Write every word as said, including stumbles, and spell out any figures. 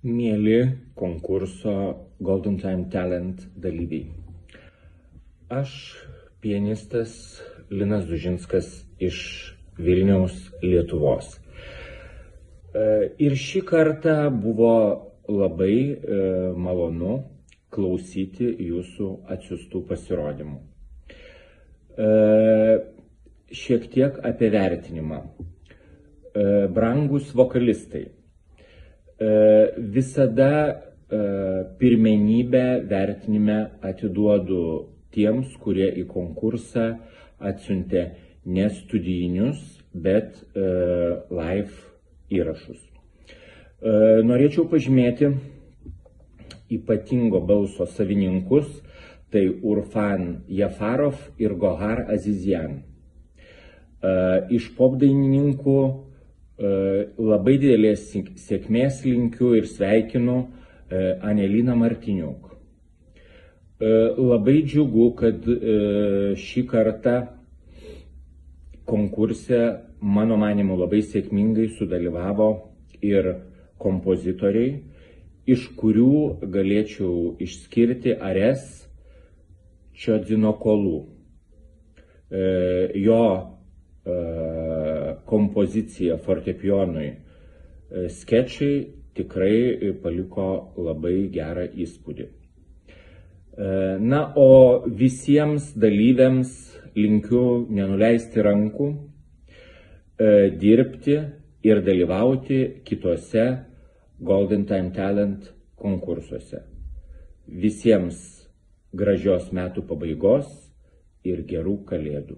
Mieli konkurso Golden Time Talent dalyviai. Aš, pianistas Linas Dužinskas iš Vilniaus, Lietuvos. Ir šį kartą buvo labai malonu klausyti jūsų atsiųstų pasirodymų. Šiek tiek apie vertinimą. Brangus vokalistai. Visada pirmenybę vertinime atiduodu tiems, kurie į konkursą atsiuntė ne studijinius, bet live įrašus. Norėčiau pažymėti ypatingo balso savininkus, tai Urfan Jafarov ir Gohar Azizian. Iš popdainininkų labai didelės sėkmės linkiu ir sveikinu Aneliną Martiniuk. Labai džiugu, kad šį kartą konkurse, mano manymu, labai sėkmingai sudalyvavo ir kompozitoriai, iš kurių galėčiau išskirti Ares Čiodzinokolu. Jo kompozicija fortepijonui skečai tikrai paliko labai gerą įspūdį. Na, o visiems dalyviams linkiu nenuleisti rankų, dirbti ir dalyvauti kitose Golden Time Talent konkursuose. Visiems gražios metų pabaigos ir gerų kalėdų.